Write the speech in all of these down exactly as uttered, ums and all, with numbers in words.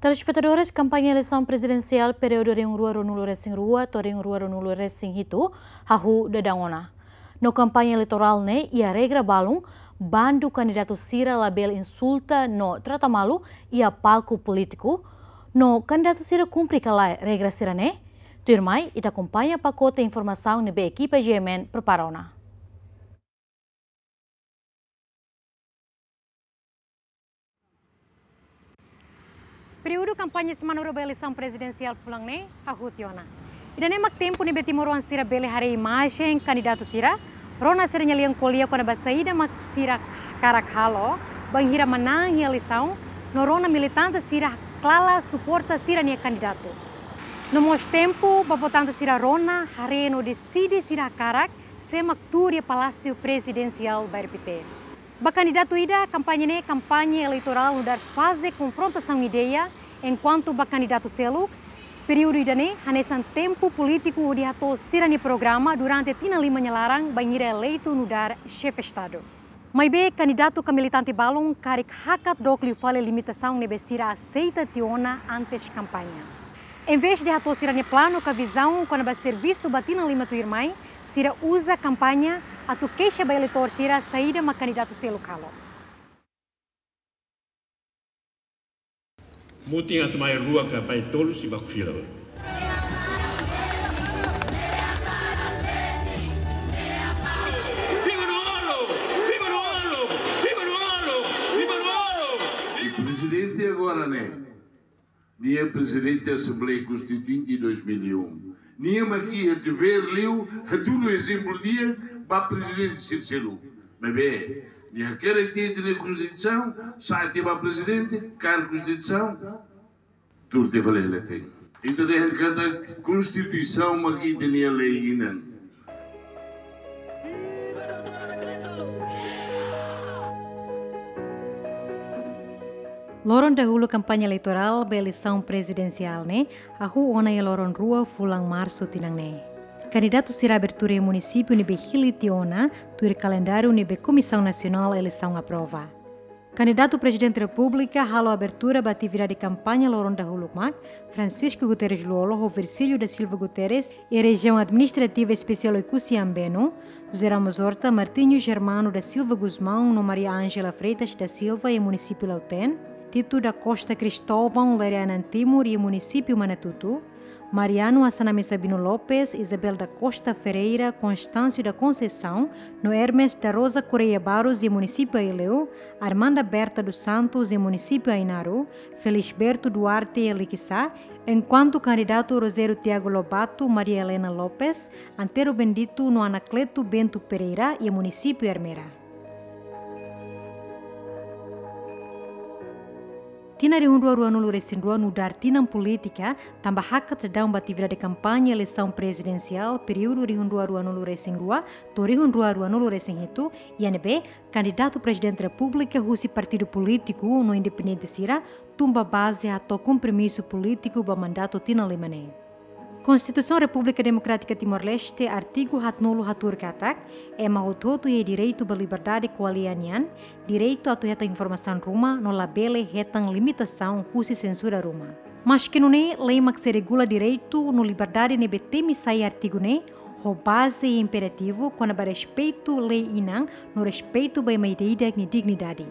Telespetadores, kampaña eleisaun prezidensiál períodu rihun rua ruanulu resin rua to'o rihun rua ruanulu resin hitu hahú daudaun ona. No kampaña eleitorál ne'e iha regra balun, bandu kandidatu sira labele insulta no trata malu iha palku polítiku. No kandidatu sira kumpre ka lae regra sira-ne'e? Tuirmai, ita akompaña pakote informasaun ne'ebé ekipa G M N prepara ona. Períodu kampaña semana rua ba eleisaun prezidensiál fulan ne'e hahú tiha ona. Ida-ne'e mak tempu ne'ebé timoroan sira bele haree imajen kandidatu sira, rona sira-nia lian ko'alia kona-ba saida mak sira hakarak halo bainhira manán iha eleisaun, no rona militante sira klaran suporta sira-nia kandidatu. No mós tempu ba votante sira rona, haree no deside sira hakarak sé mak tuur iha Palásiu Prezidensiál ba R P T. Ba kandidatu ida, kampaña ne'e kampaña eleitorál nu'udar faze konfrontasaun ideia, enkuantu ba kandidatu seluk, períodu ida-ne'e hanesan tempu polítiku hodi hato'o sira-nia programa durante tinan lima nia laran bainhira eleitu nu'udar xefe Estadu. Maibé kandidatu ka militante balun karik hakat dook liu fali limitasaun ne'ebé sira aseita tiha ona antes kampaña. Envezde hato'o sira-nia planu ka vizaun kona-ba servisu ba tinan lima tuirmai, sira uza kampaña atu keixa ba eleitór sira saida mak kandidatu seluk halo. Mutin atu mai rua ka mai tolu sei baku fila. Viva Nuolo! Viva Nuolo! Viva Nuolo! Viva Nuolo! E prezidente agora, né? Nia prezidente Asembleia Konstituinte dois mil e um. Nia mak iha devér liu hatudu ezemplu di'ak ba prezidente sira seluk. Maibé, nia hakerek tiha ita-nia Konstituisaun, sa'e tiha ba prezidente, kaer Konstituisaun, tuur tiha fali hela ten. Ita dehan katak Konstituisaun mak ita-nia lei inan. Loron dahuluk kampaña eleitorál ba eleisaun prezidensiál ne'e hahú ona iha loron rua fulan Marsu tinan ne'e. Kandidatu sira abertura iha munisípiu ne'ebé hili tiha ona, tuir kalendáriu ne'ebé Komisaun Nasionál Eleisaun aprova. Kandidatu Prezidente Repúblika halo abertura ba atividade kampaña loron dahuluk mak Francisco Guterres Lú-Olo ho Virgílio da Silva Guterres iha Rejiaun Administrativa Espesiál Oekusi Ambeno, José Ramos Horta, Martinho Germano da Silva Gusmão no Maria Ângela Freitas da Silva iha munisípiu Lautém, Tito da Costa Cristóvão, Lere Anan Timur iha munisípiu Manatuto, Mariano Assanami Sabino Lopes, Isabel da Costa Ferreira, Constâncio da Conceição no Hermes da Rosa Correia Barros iha munisípiu Aileu, Armanda Berta dos Santos iha munisípiu Ainaro, Felisberto Duarte iha Liquiçá, enkuantu kandidatu Rogério Tiago Lobato, Maria Helena Lopes, Antero Bendito no Anacleto Bento Pereira iha munisípiu Ermera. Tinan rihun rua ruanulu resin rua nu'udar tinan polítika, tanba hakat daudaun ba atividade kampaña eleisaun prezidensiál períodu rihun rua ruanulu resin rua to'o rihun rua ruanulu resin hitu, iha ne'ebé kandidatu Prezidente Repúblika husi partidu polítiku no independente sira tun ba baze hato'o kompromisu polítiku ba mandatu tinan lima ne'e. Konstituisaun Repúblika Demokrátika Timor-Leste, artigu haatnulu hatuur katak, ema hotu-hotu iha direitu ba liberdade ko'alia nian, direitu atu hetan informasaun ruma no labele hetan limitasaun husi sensura ruma. Maski nune'e, lei mak sei regula direitu no liberdade ne'ebé temi sai artigu ne'e, ho baze imperativu kona-ba respeitu lei inan no respeitu ba ema ida-idak nia dignidade.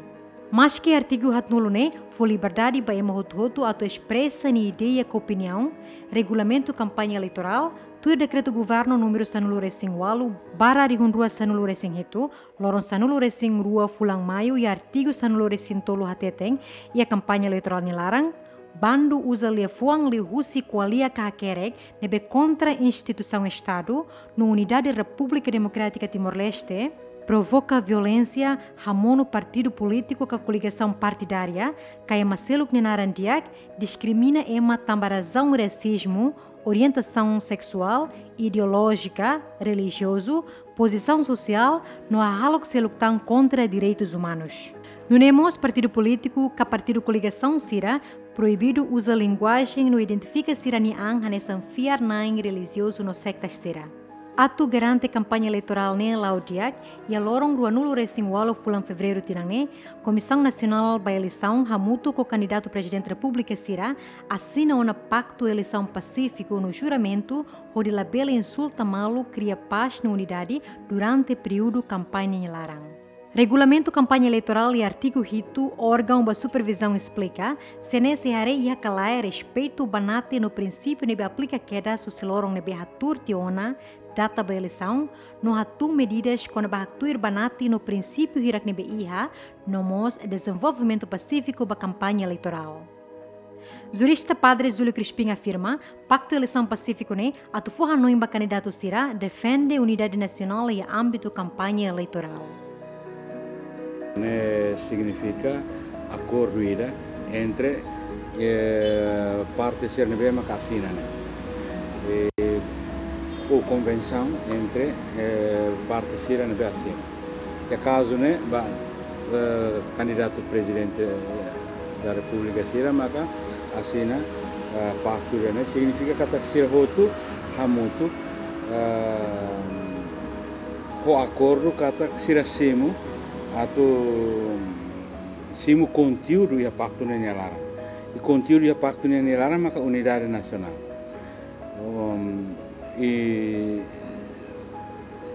Maski artigu haatnulu ne'e fó liberdade ba ema hotu-hotu atu espresa nia ideia ka opiniaun, regulamentu kampaña eleitorál, tuir dekretu governu númeru sanulu resin ualu barra rihun rua sanulu resin hitu, loron sanulu resin rua fulan Maiu iha artigu sanulu resin tolu hateten, iha kampaña eleitorál nia laran, bandu uza liafuan liuhusi ko'alia ka hakerek ne'ebé kontra instituisaun Estadu no unidade Repúblika Demokrátika Timor-Leste, provoka violénsia, hamonu partidu polítiku ka koligasaun partidária, ka ema seluk nia naran di'ak, diskrimina ema tanba razaun rasizmu, orientasaun seksuál, ideolójika, relijiozu, pozisaun sosiál, no hahalok seluk tan kontra direitus umanus. Nune'e mós partidu polítiku ka partidu koligasaun sira proibidu uza linguajen no identifika sira-nia an hanesan fiar-na'in relijiozu no sektas sira. Atu garante kampaña eleitorál ne'e la'o di'ak, iha loron ruanulu resin ualu fulan Fevereiru tinan ne'e, Komisaun Nasionál ba Eleisaun hamutuk ho kandidatu Prezidente Repúblika sira asina ona paktu eleisaun pasífiku no juramentu hodi labele insulta malu, kria pás no unidade durante períodu kampaña nia laran. Regulamentu kampaña eleitorál iha artigu hitu, órgaun ba supervizaun esplika, se ne'e sei haree iha ka lae respeitu banati no prinsípiu ne'ebé aplika kedas husi loron ne'ebé hatuur tiha ona data ba eleisaun, no hatún medidas kona-ba haktuir banati no prinsípiu hirak ne'ebé iha, no mós dezenvolvimentu pasífiku ba kampaña eleitorál. Jurista Padre Júlio Crispim afirma, paktu eleisaun pasífiku ne'e atu fó hanoin ba kandidatu sira defende unidade nasionál iha ámbitu kampaña eleitorál. Ne'e signifika akordu ida entre, eh, parte sira ne'ebé maka asina ne'e. Eh, ou konvensaun entre, eh, parte sira ne'ebé asina. Iha kazu ne'e ba, eh, kandidatu Prezidente, eh, da Repúblika sira maka asina, eh, paktu ida ne'e, signifika katak sira hotu hamutuk, eh, ho akordu katak sira simu atu simu konteúdu iha paktu ne'e nia laran. I konteúdu iha paktu ne'e nia laran maka unidade nasionál. Um, i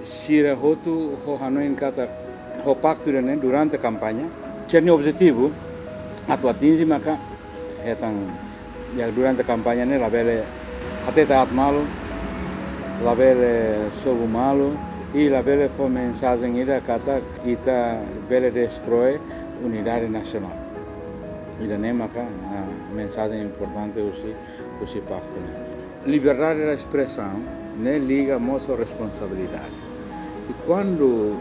sira hotu ho hanoin katak ho paktu ida ne'e durante kampaña, sira-nia objetivu atu atinje maka hetan, ya, durante kampaña ne'e labele hatete aat malu, labele sobu malu, i labele fó mensajen ida katak ita bele destrói unidade nasionál. Ida ne'e maka, ah, mensajen importante husi, husi paktu ne'e. Liberdade de espresaun ne'e liga mós ho responsabilidade. I kuandu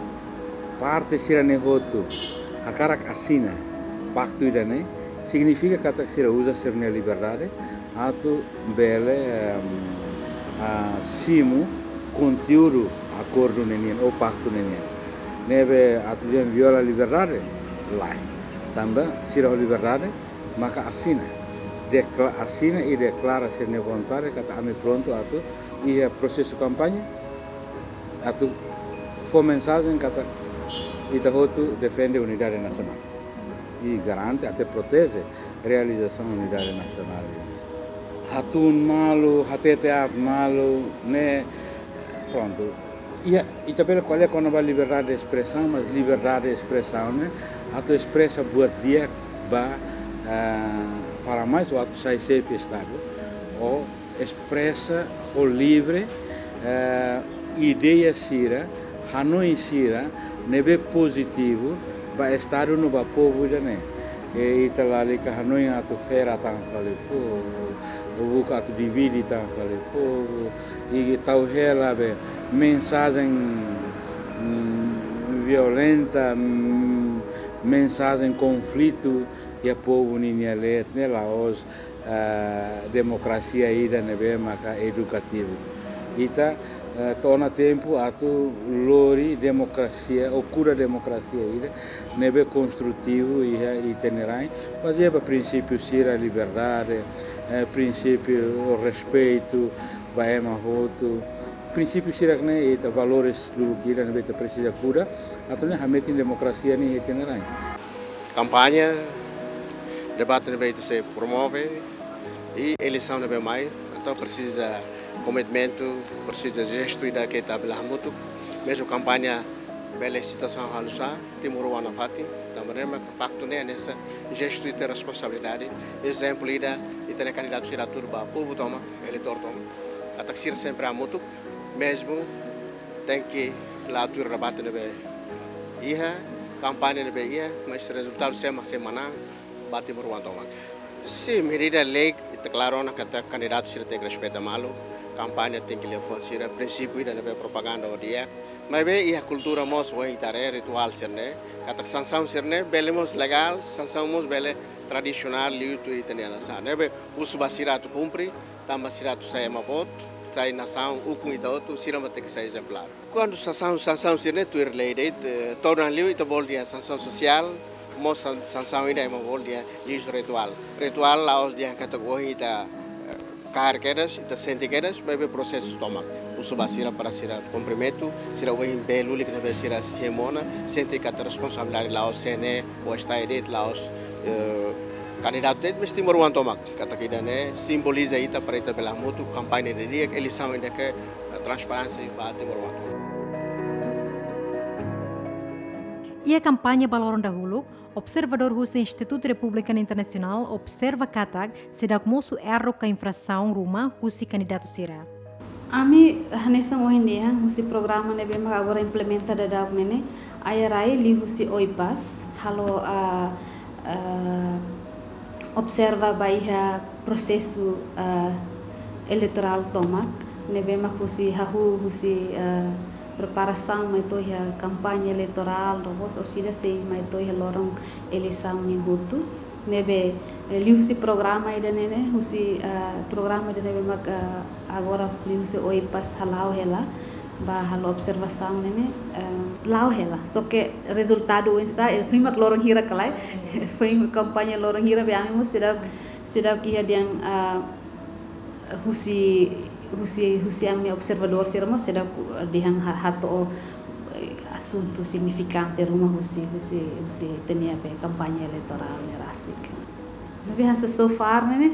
parte sira ne'e hotu hakarak asina paktu ida ne'e, signifika katak sira uza sira-nia liberdade atu bele, em, ah, simu konteúdu akordu ne'e nian ou paktu ne'e nian. Ne'ebé atu dehan viola liberdade? Lae. Tanba sira ho liberdade maka asina. Dekla-, asina i deklara sira-nia vontade katak ami prontu atu iha prosesu kampaña, atu fó mensajen katak ita hotu defende unidade nasionál. I garante até proteje realizasaun unidade nasionál. Hatún malu, hatete aat malu, ne'e, prontu. Iha, ita bele ko'alia kona-ba liberdade de espresaun, mas liberdade de espresaun ne'e atu espresa buat di'ak ba, ah, para mais ou atu sai xefe Estadu, ou espresa ho livre, eh, ideia sira, hanoin sira ne'ebé pozitivu ba Estadu no ba povu ida ne'e. I ita lalika hanoin atu fera tan fali povu, ou buka atu divide tan fali povu, i tau hela be mensajen, mm, violenta, mm, mensajen konflitu iha povu ninia leet ne'e la'ós, eh, demokrasia ida ne'ebé maka edukativu. Ita, eh, to'o ona tempu atu lori demokrasia, ou kuda demokrasia ida ne'ebé konstrutivu iha ita-nia rain, bazeia ba prinsípiu sira, liberdade, eh, prinsípiu respeitu ba ema hotu, prinsípiu sira ne'e, ita valores lubuk ida ne'ebé ita presiza kuda, atu nune'e hametin demokrasia ne'e iha ita-nia rain. Kampaña, debate ne'ebé ita sei promove, i eleisaun ne'ebé mai, entaun presiza komitmentu, presiza jestu ida ke ita bele hamutuk, mezmu kampaña bele situasaun halo sá, timoroan nafatin, tanba ne'e maka paktu ne'e hanesan jestu ita responsabilidade, ezemplu ida, ita-nia kandidatu sira hatudu ba povu tomak, eleitór tomak, katak sira sempre hamutuk, mezmu tenke la tuir debate ne'ebé iha, kampaña ne'ebé iha, mas rezultadu sé mak sei manán ba timoroan tomak. Sin, medida lei ita klaru ona katak kandidatu sira tenke respeita malu, kampaña tenke liafuan sira, prinsípiu ida ne'ebé propaganda ho di'ak. Maibé iha kultura mós ohin ita haree rituál sira-ne'e, katak sansaun sira-ne'e bele mós legál, sansaun mós bele tradisionál liu tuir ita-nia nasaun. Ne'ebé husu ba sira atu kumpre, tanba sira atu sai ema boot, sai nasaun ukun ita hotu, sira mak tenke sai ezemplár. Kuandu sansaun, sansaun sira-ne'e tuir lei de'it, eh, torna liu ita bolu dehan sansaun sosiál, mós san-, sansaun ida ema bolu dehan lixu rituál. Rituál la'ós dehan katak ohin ita, eh, Kaer kedas, ita sente kedas, maibé prosesu tomak. Husu ba sira para sira komprimentu, sira ohin bee lulik ne'ebé sira simu ona, sente katak responsabilidade la'ós sé ne'e, ou está de'it la'ós, eh, kandidatu de'it, mas timoroan tomak. Katak ida-ne'e simboliza ita para ita bele hamutuk, kampaña di'ak, eleisaun ida ke, eh, transparénsia ba timoroan. Iha kampaña ba loron dahuluk, observadór husi Institutu Republicano Internasionál observa katak seidauk mosu erru ka infrasaun ruma husi kandidatu sira. Ami hanesan ohin dehan husi programa ne'ebé mak agora implementa daudaun ne'e, iha rai liuhusi OIPAS, halo, ah, ah, observa ba iha prosesu, ah, eleitorál tomak, ne'ebé mak husi hahú, husi, ah, preparasaun mai to'o iha kampaña eleitorál, no mós orsida sei mai to'o iha loron eleisaun nian hotu. Ne'ebé, eh, liuhusi programa ida-ne'e, husi, ah, programa ida ne'ebé mak, ah, agora liuhusi OIPAS hala'o hela, ba halo observasaun ne'e, eh, la'o hela. Só ke rezultadu oinsá, eh, foin mak loron hira kalai, foin kampaña loron hira, be ami mós seidauk, seidauk iha dehan, ah, husi, husi, husi ami-nia observadór sira mós seidauk dehan ha-, hato'o, eh, asuntu signifikante ruma husi, husi, husi ita-nia be kampaña eleitorál ne'e rasik. Maibé hanesan so far ne'e,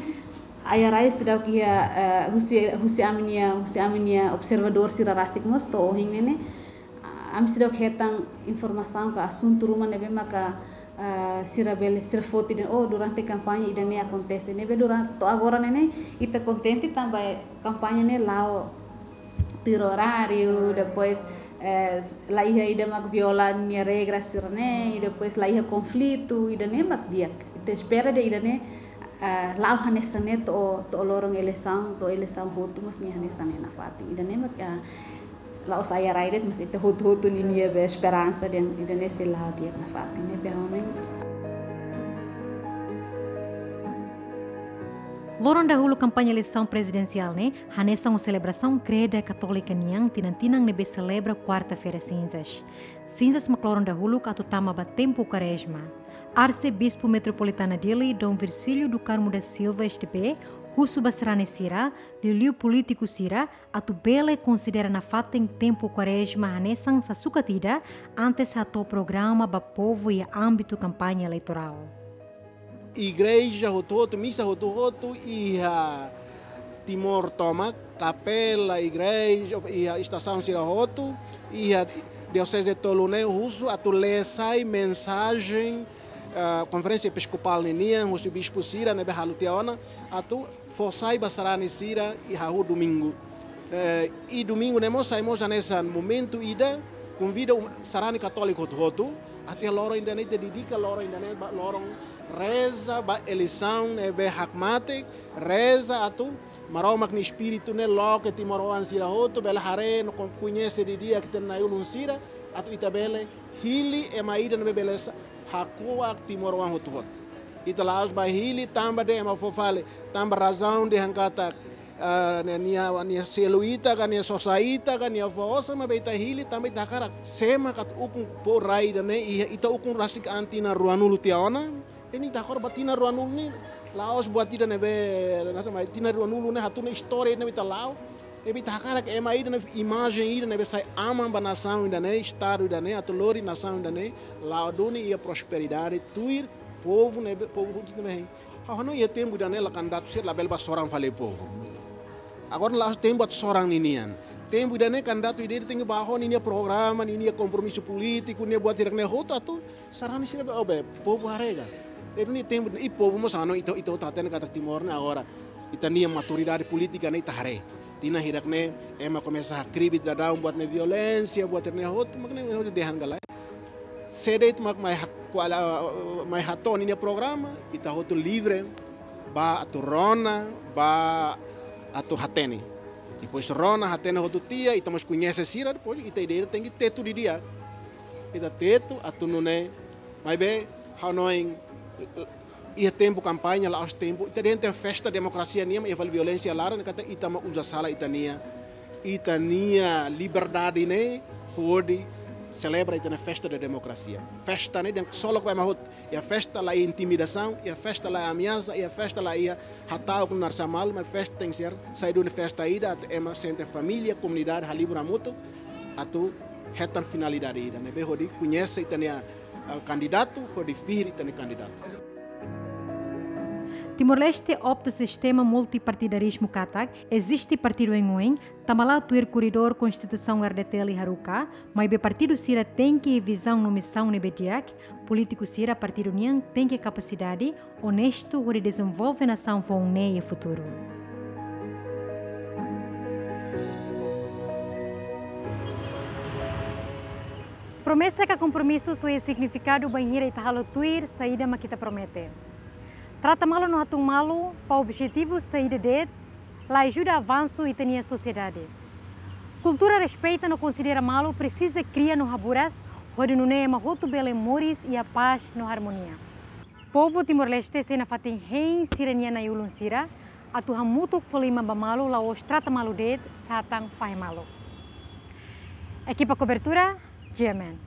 iha rai seidauk iha, eh, husi, husi ami-nia, husi ami-nia observadór sira rasik mós to'o ohin ne'e, ami seidauk hetan informasaun ka asuntu ruma ne'ebé maka, ah, sira bele, sira foti dehan, oh, durante kampaña ida-ne'e akontese. Ne'ebé durante, to'o agora ne'e, ita kontente tanba kampaña ne'e la'o tuir oráriu, depois, eh, la iha ida mak viola nia regra sira-ne'e, i depois la iha konflitu, ida-ne'e mak di'ak. Ita espera dehan ida-ne'e, ah, la'o hanesan ne'e to'o, to'o loron eleisaun, to'o eleisaun hotu mós nia hanesan ne'e nafatin. Ida-ne'e mak, ah, la'ós iha rai de'it, mas ita hotu-hotu ninia be esperansa dehan ida-ne'e sei la'o di'ak nafatin, ne'ebé ha'u hanoin. Loron dahuluk kampaña eleisaun prezidensiál ne'e, hanesan ho selebrasaun kreda katólika nian tinan-tinan ne'ebé selebra Kuarta-feira Sinzas. Sinzas mak loron dahuluk atu tama ba tempu Kuarezma. Arsebispu Metropolitana Dili, Dom Virgílio do Carmo da Silva, S D B, husu ba sarani sira, liuliu polítiku sira, atu bele konsidera nafatin tempu Kuarezma hanesan sasukat ida antes hato'o programa ba povu iha ámbitu kampaña eleitorál. Igreja hotu-hotu, misa hotu-hotu iha Timor tomak, kapela, igreja, iha estasaun sira hotu, iha dioseze tolu ne'e husu atu lee sai mensajen, ah, Konferénsia Episkopál ninian, husi bispu sira ne'ebé halo tiha ona, atu fó sai ba sarani sira iha hahú domingu. Eh, i domingu ne'e mós sai mós hanesan momentu ida, konvida um, sarani katóliku hotu-hotu, atu iha loron ida-ne'e ita dedika loron ida-ne'e ba loron reza ba eleisaun ne'ebé hakmatek, reza atu Maromak nia Espíritu ne'e loke timoroan sira hotu, bele haree no kon-, koñese didi'ak ita-nia na'i-ulun sira, atu ita bele hili ema ida ne'ebé bele sa-, hakuak timoroan hotu-hotu. Ita la'ós bá hili tanba dehan ema fó fali, tanba razaun dehan katak, ah, nia, nia, nia selu ita ka, nia sosa ita ka, nia fó osan, maibé ita hili tanba ita hakarak. Sé mak atu ukun povu rai ida-ne'e, iha ita ukun rasik an tinan ruanulu tiha ona. Ne'e ita hakarak ba tinan ruanulu ne'e, la'ós buat ida ne'ebé, nasa mai tinan ruanulu ne'e hatún istória ne'ebé ita la'o. Ne'ebé ita hakarak ema ida ne'e imajen ida ne'ebé sai aman ba nasaun ida-ne'e, estadu ida-ne'e, atu lori nasaun ida-ne'e la'o duni iha prosperidade tuir povu ne'ebé, povu hotu ne'ebé hein. Ha'u hanoin iha tempu ida-ne'e la kandidatu sira labele bá soran fali povu. Agora la'ós tempu atu soran ninian. Tempu ida-ne'e kandidatu ida-idak tenke bá ho ninia programa, ninia kompromisu polítiku, nia buat hirak-ne'e hotu atu sarani sira be, oh, be, povu haree ka. Ne'e duni tempu, i povu mós hanoin, ita, ita, ita hatene katak Timor ne'e agora ita-nia maturidade polítika ne'e ita haree. Tinan hirak-ne'e ema komesa hakribi daudaun buat ne'e violénsia, buat ne'e hotu, mak ne'e, ne'e dehan galai. Sé de'it mak mai ha-, kuala, mai hato'o ninia programa, ita hotu livre, bá atu rona, bá atu hatene. Depois rona, hatene hotu tiha, ita mós koñese sira, depois ita ida-idak tenke tetu didi'ak. Ita tetu atu nune'e, maibé, ha'u hanoin, iha tempu kampaña, la'ós tempu, ita dehan festa demokrasia nian, iha fali violénsia laran, katak ita mak uza sala ita-nia, ita-nia liberdade ne'e, hodi Selebra ita-nia festa da demokrasia. Festa ne'e dehan ksolok ba ema hotu. Iha festa la iha intimidasaun, iha festa la iha ameasa, iha festa la iha hata'uk no naran sá malu, mas festa tenke ser sai duni festa ida atu ema sente família, komunidade halibur hamutuk, atu hetan finalidade ida ne'ebé hodi koñese ita-nia, ah, kandidatu, hodi fihir ita-nia kandidatu. Timor-Leste opta sistema multipartidarizmu katak eziste partidu oioin, tanba la'o tuir koridór Konstituisaun RDTL haruka, maibé partidu sira tenke vizaun no misaun ne'ebé di'ak, polítiku sira partidu nian tenke kapasidade, onestu hodi dezenvolve nasaun foun ne'e iha futuru. Promesa ka kompromisu só iha signifikadu bainhira ita halo tuir saida mak ita promete. Trata malu no hatún malu, ba objetivu saida de'it, la ajuda avansu ita-nia sosiedade. Kultura respeita no konsidera malu presiza kria no haburas, hodi nune'e ema hotu bele moris iha pás no armonia. Povu Timor-Leste sei nafatin hein sira-nia na'i-ulun sira, atu hamutuk fó liman ba malu la'ós trata malu de'it, satán fahe malu. Ekipa kobertura, G M N.